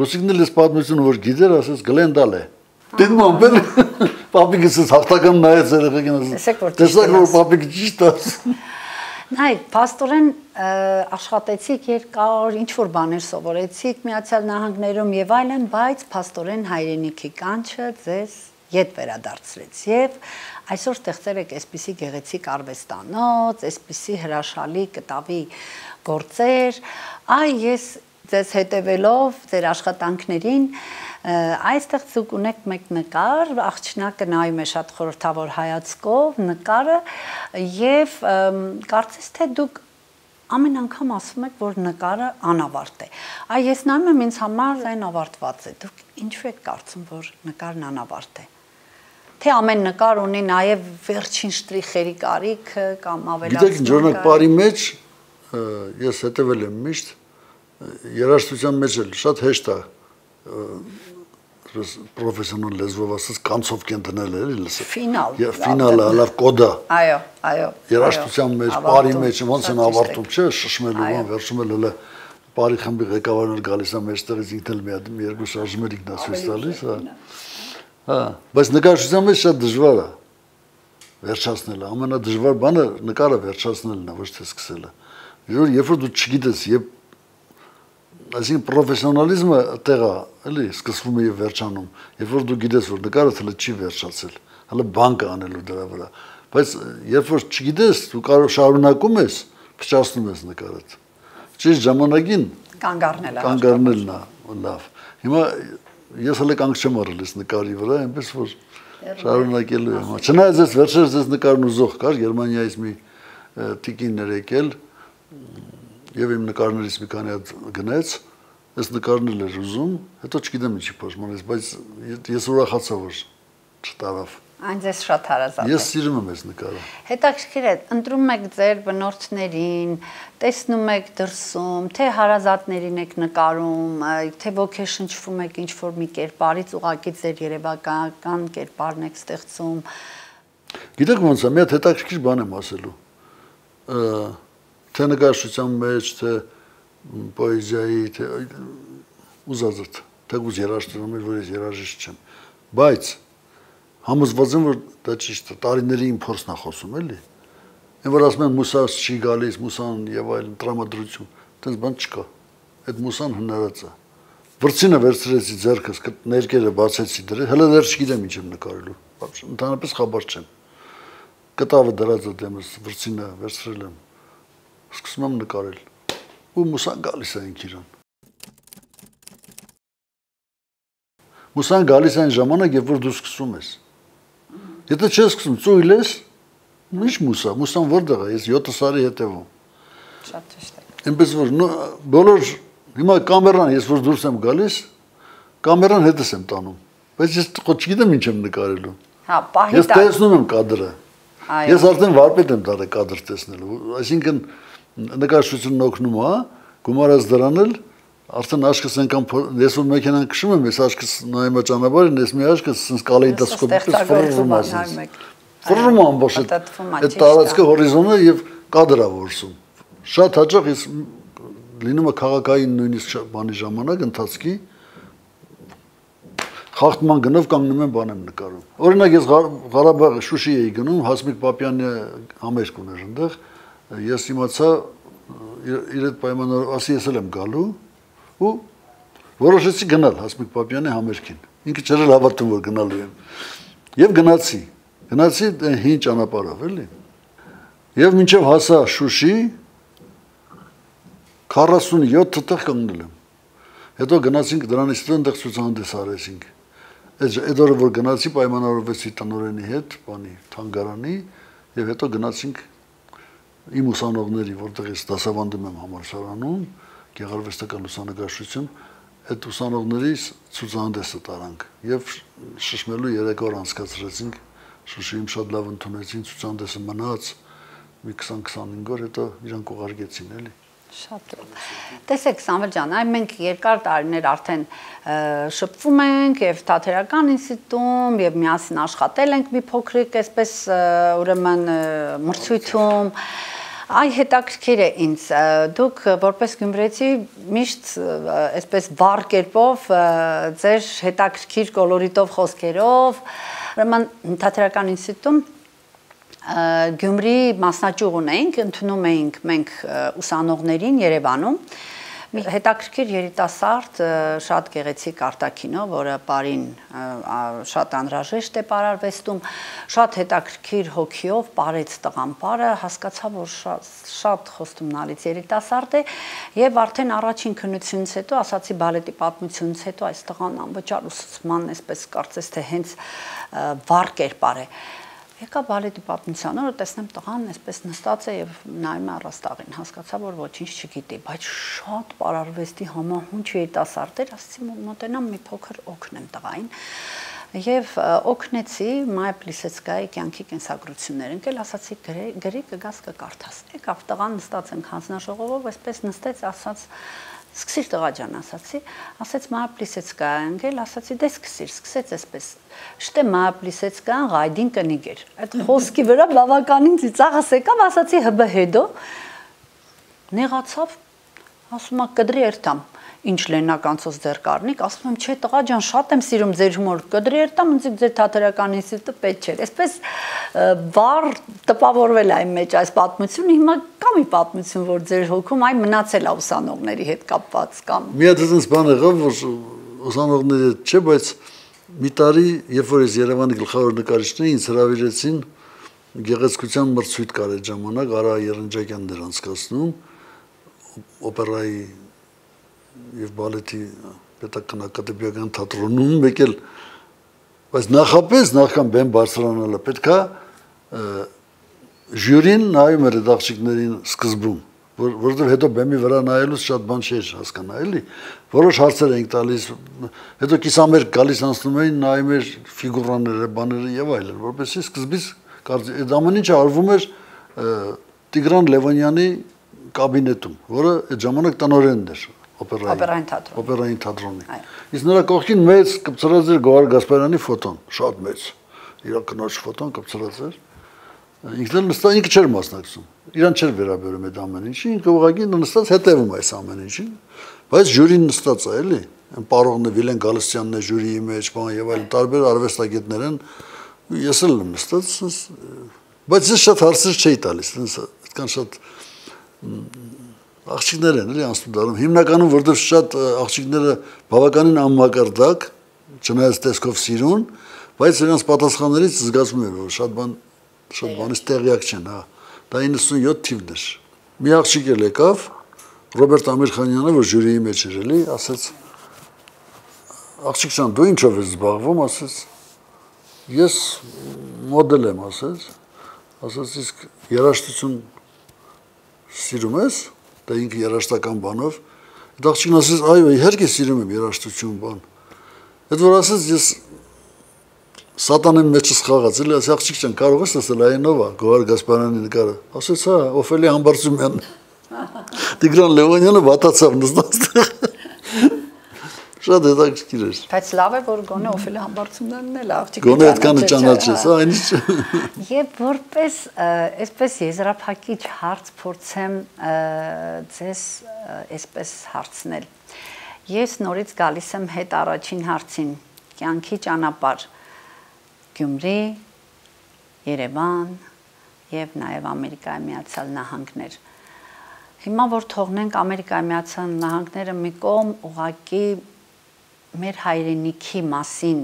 Լուսիկն էլ էս պատմությունը որ գիտեր, ասեց Գլենդալ է։ Դեն մոմբել պապիկս հաղթական նայեց երեխեքին ասեց։ Տեսակ որ պապիկը ճիշտ ասում։
Նայ, փաստորեն աշխատեցիք երկար, ինչ որ բաներ սովորեցիք Միացյալ Նահանգներում եւ այլն, բայց փաստորեն հայրենիքի կանչը ձեզ ետ վերադարձրեց եւ այսօր ստեղծել եք այսպիսի գեղեցիկ արվեստանոց, այսպիսի հրաշալի կտավի գործեր, այ ես ձեզ հետևելով ձեր աշխատանքներին այստեղ ցուկ ունեք մեկ նկար, աղջնակը նայում է շատ խորհրդավոր հայացքով նկարը եւ կարծես թե դուք ամեն անգամ ասում եք, որ նկարը անավարտ է։ Այ ես նայում եմ ինձ համար այն ավարտված է։ Դուք ինչու եք կարծում, որ նկարն անավարտ է։ Թե ամեն նկար ունի նաեւ վերջին շտրիխերի կարիքը կամ ավելացում։
Գիտեք, օրինակ բարի մեջ ես հետևել եմ միշտ երաժշտության մեջ էլ շատ հեշտ է պրոֆեսիոնալ լեզվով ասած կանցով կենտնել էլի լսել։
Ֆինալ։
Ֆինալը լավ կոդա։
Այո, այո։
Երաժշտության մեջ, բարի մեջ ոնց են ավարտում, չէ, շշմելու բան, վերջում էլ հələ բարի խմբի ղեկավարն էլ գալիս է մեջտեղից ինքն էլ մի հատ մի երկու շարժումներ ինքնացույց տալիս, հա։ Հա, բայց նկարչության մեջ շատ դժվար է վերջացնելը, ամենադժվար բանը նկարը վերջացնելն է, ոչ թե սկսելը։ Երբ որ դու չգիտես, երբ այսինքն պրոֆեսիոնալիզմը տեղ է, էլի, սկսվում է եւ վերջանում, երբ որ դու գիտես, որ նկարը հələ չի վերջացել, հələ բան կա անելու դրա վրա, բայց երբ որ չգիտես, դու կարող շարունակում ես, փչացնում ես նկարը։ Ճիշտ ժամանակին
կանգ առնել է։
Կանգ առնելն է, լավ։ Հիմա ես հələ կանգ չեմ առել այս նկարի վրա, այնպես որ շարունակելու եմ։ Չնայած այս վերջերս այս նկարն ուզող կար, Գերմանիայից մի տիկին էր եկել եւ իմ նկարներից մի քանի հատ գնաց, այս նկարն էլ էր ուզում, հետո չգիտեմ ինչի փոշմանեց, բայց ես ուրախացա որ չտարավ։
Այն ձեզ շատ հարազատ է։
Ես սիրում եմ այս նկարը։
Հետաքրքիր է, ընտրում եք ձեր բնորդներին, տեսնում եք դրսում, թե հարազատներին եք նկարում, թե ոգեշնչվում եք ինչ-որ մի կերպարից, ուղղակի ձեր երևակայական կերպարն եք ստեղծում։
Գիտեք ոնց է, մի հատ հետաքրքիր բան եմ ասելու։ Թե նկարչության մեջ, թե պոեզիայի, թե ուզածդ, թե ուզ երաժշտում եմ, որ ես երաժիշտ չեմ, բայց համոզված եմ, որ դա ճիշտ է, տարիների իմ փորձն է խոսում, էլի։ Այն որ ասում են մուսաս չի գալիս, մուսան եւ այլն տրամադրություն, այդպես բան չկա։ Այդ մուսան հնարած է։ Վրձինը վերցրեցի ձեռքս, ներկերը բացեցի դրել, հələ դեռ չգիտեմ ինչ եմ նկարելու։ Ընդհանրապես խաբար չեմ։ Կտավը դրած է դեմս, վրձինը վերցրել եմ։ Սկսում եմ նկարել, ու մուսան գալիս է ինք իրան։ Մուսան գալիս է այն ժամանակ, երբ որ դու սկսում ես։ Եթե չես սկսում, ծույլ ես, ինչ մուսա, մուսան որտեղ է, ես յոթ սարի հետևում։
Շատ ճիշտ է։
Այնպես որ բոլոր հիմա կամերան, ես որ դուրս եմ գալիս, կամերան հետս եմ տանում, բայց ես չգիտեմ ինչ եմ նկարելու։
Հա, պահի
Ես տեսնում եմ կադրը։ Ես արդեն վարպետ եմ դառել կադր տեսնելու, այսինքն նկարչությունն օգնում է, գումարած դրան էլ արդեն աչքս այնքան ես որ մեքենան քշում եմ, ես աչքս նայում եմ ճանապարհին, ես մի աչքս sense կալեիդոսկոպից ֆռռում է։ Ֆռռում է ամբողջ այդ տարածքը հորիզոնը եւ կադրը որսում։ Շատ հաճախ ես լինում է քաղաքային նույնիսկ բանի ժամանակ ընթացքի խախտման գնով կանգնում եմ բան եմ նկարում։ Օրինակ ես Ղարաբաղ Շուշի էի գնում, Հասմիկ Պապյանի համերգ ուներ այնտեղ, ես իմացա իր այդ պայմաններով, ասի ես էլ եմ գալու ու որոշեցի գնալ Հասմիկ Պապյանի համերգին։ Ինքը չէր հավատում որ գնալու եմ։ Եվ գնացի։ Գնացի հին ճանապարհով, էլի։ Եվ մինչև հասա Շուշի քառասունյոթ տեղ կանգնել եմ։ Հետո գնացինք դրանից հետո այնտեղ ցուցահանդես արեցինք։ Այդ օրը որ գնացի պայմանավորվեցի տնօրենի հետ, բանի թանգարանի, եւ հետո գնացինք իմ ուսանողների, որտեղից դասավանդում եմ համալսարանում, գեղարվեստական լուսանկարչություն, այդ ուսանողների ցուցահանդեսը տարանք եւ շշմելու երեք օր անցկացրեցինք Շուշիում, շատ լավ ընդունեցին, ցուցահանդեսը մնաց մի քսան-քսանհինգ օր, հետո իրանք ուղարկեցին էլի։
Շատ լավ։ Տեսեք Սամվել ջան, այ մենք երկար տարիներ արդեն շփվում ենք եւ Թատերական ինստիտուտում եւ միասին աշխատել ենք մի փոքրիկ այսպես ուրեմն մրցույթում։ Այ հետաքրքիր է ինձ, դուք որպես գյումրեցի միշտ այսպես վառ կերպով ձեր հետաքրքիր կոլորիտով խոսքերով, ուրեմն Թատերական ինստիտուտում Գյումրի մասնաճյուղ ունեինք, ընդունում էինք մենք ուսանողներին Երևանում, մի հետաքրքիր երիտասարդ, շատ գեղեցիկ արտաքինով, որը բարին շատ անհրաժեշտ է պարարվեստում, շատ հետաքրքիր հոգիով պարեց տղան պարը, հասկացա, որ շատ խոստումնալից երիտասարդ է եւ արդեն առաջին քննությունից հետո, ասացի բալետի պատմությունից հետո այս տղան անվճար ուսուցման, այսպես կարծես թե հենց վառ կերպար է։ Եկա բալետի պատմության օրը տեսնեմ տղան այսպես նստած է եւ նայում է առաստաղին, հասկացա, որ ոչինչ չգիտի, բայց շատ պարարվեստի համահունչ երիտասարդ էր, ասացի մոտենամ մի փոքր օգնեմ տղային եւ օգնեցի Մայա Պլիսեցկայի կյանքի կենսագրություններ ընկել, ասացի գրի կգաս կկարդաս։ Եկավ տղան նստած ենք հանձնաժողովով, այսպես նստեց, ասաց Սկսիր տղա ջան, ասացի, ասաց Մայա Պլիսեցկայա ընկել, ասացի դե սկսիր, սկսեց այսպես։ Շտե Մայա Պլիսեցկան ղայդին կնիգեր։ Այդ խոսքի վրա բավականին ծիծաղս եկավ, ասացի հբ հետո նեղացավ, ասում է կդրի երթամ, ինչ լենականցոց ձեր կարնիկ, ասում եմ չէ տղա ջան, շատ եմ սիրում ձեր հումոր, կդրի երթամ, ինձ ձեր Թատերական ինստիտուտը պետք չէր։ Այսպես վառ տպավորվել է այն մեջ այս պատմությունը, հիմա կա մի պատմություն, որ ձեր հոգում այն մնացել է ուսանողների հետ կապված կամ։
Մի հատ այնպես բան եղավ, որ ուսանողների հետ չէ, բայց մի տարի, երբ որ ես Երևանի գլխավոր նկարիչներին ինձ հրավիրեցին գեղեցկության մրցույթ կար այդ ժամանակ, Արա Երնջակյանն էր անցկացնում, օպերայի եւ բալետի պետական ակադեմիական թատրոնում եկել, բայց նախապես նախքան բեմ բարձրանալը պետքա ժյուրին նայում էր այդ աղջիկներին սկզբում, որովհետեւ հետո բեմի վրա նայելուց շատ բան չէր հասկանա, էլի, որոշ հարցեր էինք տալիս, հետո կիսամերկ գալիս անցնում էին, նայում էր ֆիգուրաները, բաները եւ այլն, որովհետեւ սկզբից այդ ամեն ինչը արվում էր Տիգրան Լևոնյանի կաբինետում, որը այդ ժամանակ տնօրենն էր
Օպերային թատրոն։
Օպերային թատրոնի։ Իսկ նրա կողքին մեծ կպցրած էր Գոհար Գասպարյանի ֆոտոն, շատ մեծ։ Իր կնոջ ֆոտոն կպցրած էր։ Ինքն էլ նստած ինքը չէր մասնակցում։ Իրան չէր վերաբերում այդ ամեն ինչի, ինքը ուղղակի նստած հետևում այս ամեն ինչին։ Բայց ժյուրին նստած է, էլի։ Այն պարողն է Վիլեն Գալստյանն է ժյուրիի մեջ, բան եւ այլն, տարբեր արվեստագետներ են։ Ես էլ եմ նստած, բայց ես շատ հարցեր չէի տալիս, այդքան շատ աղջիկներ են, էլի անցնում դառնում։ Հիմնականում որտեղ շատ աղջիկները բավականին անմակարդակ, չնայած տեսքով սիրուն, բայց նրանց պատասխաններից զգացում էր, որ շատ բան շատ բանից տեղյակ չեն, հա։ Դա իննսունյոթ թիվն էր։ Մի աղջիկ էլ եկավ, Ռոբերտ Ամիրխանյանը, որ ժյուրիի մեջ էր, էլի, ասաց. Աղջիկ ջան, դու ինչով ես զբաղվում, ասաց. Ես մոդել եմ, ասաց։ Ասաց իսկ երաժշտություն սիրում ես, դա ինքը երաժշտական բանով, այդ աղջիկն ասեց, այո, իհարկե սիրում եմ երաժշտություն բան։ Այդ որ ասեց, ես սատանեն մեջս խաղաց, էլի, ասի աղջիկ ջան, կարող ես ասել այն ով է, Գոհար Գասպարյանի նկարը։ Ասեց, հա, Օֆելիա Համբարձումյանն։ Տիգրան Լևոնյանը վատացավ նստած։ Շատ հետաքրքիր էր։
Բայց լավ է, որ գոնե Օֆելիա Համբարձումյանն էլ աղջիկը
գոնե այդքանը ճանաչես, հա, այնիշ։
Եվ որպես այսպես եզրափակիչ հարց փորձեմ ձեզ այսպես հարցնել։ Ես նորից գալիս եմ հետ առաջին հարցին, կյանքի ճանապարհ, Գյումրի, Երևան եւ նաեւ Ամերիկայի Միացյալ Նահանգներ։ Հիմա որ թողնենք Ամերիկայի Միացյալ Նահանգները մի կողմ, ուղղակի մեր հայրենիքի մասին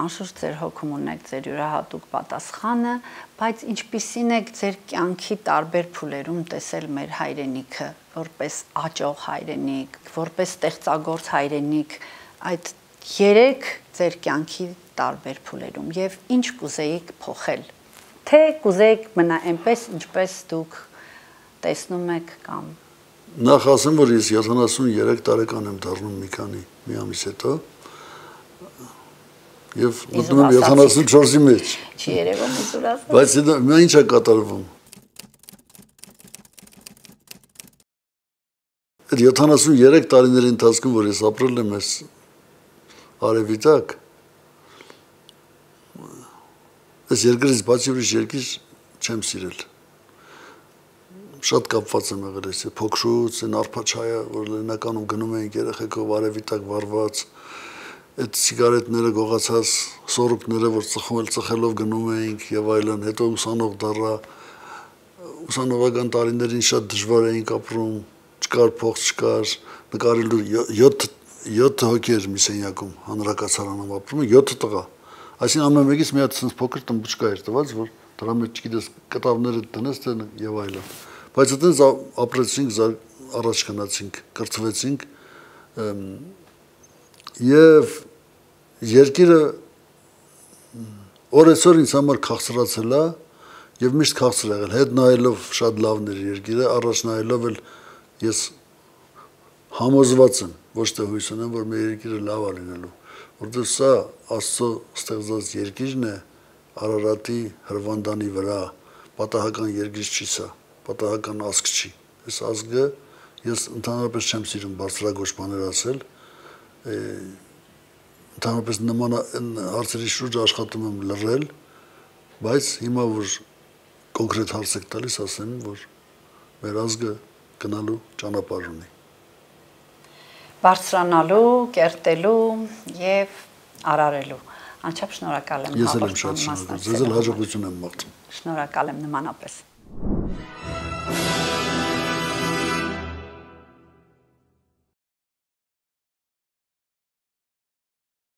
անշուշտ ձեր հոգում ունեք ձեր յուրահատուկ պատասխանը, բայց ինչպիսին եք ձեր կյանքի տարբեր փուլերում տեսել մեր հայրենիքը, որպես աճող հայրենիք, որպես ստեղծագործ հայրենիք, այդ երեք ձեր կյանքի տարբեր փուլերում եւ ինչ կուզեիք փոխել, թե կուզեիք մնա այնպես, ինչպես դուք տեսնում եք կամ
Նախ ասեմ, որ ես յոթանասունյուրեք տարեկան եմ դառնում մի քանի մի ամիս հետո եւ մտնում եմ յոթանասունչորսի մեջ։
Չի երևում իզուր ասած։
Բայց դա ինչ է կատարվում։ Այդ յոթանասունյուրեք տարիների ընթացքում, որ ես ապրել եմ այս արևիտակ, այս երկրից բացի ուրիշ երկիր չեմ սիրել։ Շատ կապված եմ եղել այս փոքրուց, այն արփաչայը, որ լեննականում գնում էինք երեխեքով արևիտակ վառված, այդ սիգարետները գողացած, սորուկները, որ ծխել ծխելով գնում էինք եւ այլն, հետո ուսանող դառա, ուսանողական տարիներին շատ դժվար էինք ապրում, չկար փող, չկար, նկարելու յոթ հոգի էր մի սենյակում, հանրակացարանում ապրում, յոթ տղա, այսինքն ամեն մեկից մի հատ sense փոքր տմբուճկա էր տված, որ դրա մեջ չգիտես կտավները տնես եւ այլն։ Բայց այդպես ապրեցինք, առաջ գնացինք, կրթվեցինք եւ երկիրը օրեցօր ինձ համար քաղցրացել է եւ միշտ քաղցր եղել, հետ նայելով շատ լավն էր երկիրը, առաջ նայելով էլ ես համոզված եմ, ոչ թե հույս ունեմ, որ մեր երկիրը լավ է լինելու, որովհետեւ սա Աստծո ստեղծած երկիրն է Արարատի Հրվանդանի վրա, պատահական երկիր չի սա, պատահական ազգ չի։ Այս ազգը ես ընդհանրապես չեմ սիրում բարձրագույն բաներ ասել, ընդհանրապես նման հարցերի շուրջ աշխատում եմ լռել, բայց հիմա որ կոնկրետ հարց եք տալիս, ասեմ, որ մեր ազգը գնալու ճանապարհ ունի։
Բարձրանալու, կերտելու եւ արարելու։ Անչափ շնորհակալ եմ։
Ես էլ եմ շատ շնորհակալ։ Ձեզ էլ հաջողություն եմ մաղթում։
Շնորհակալ եմ նմանապես։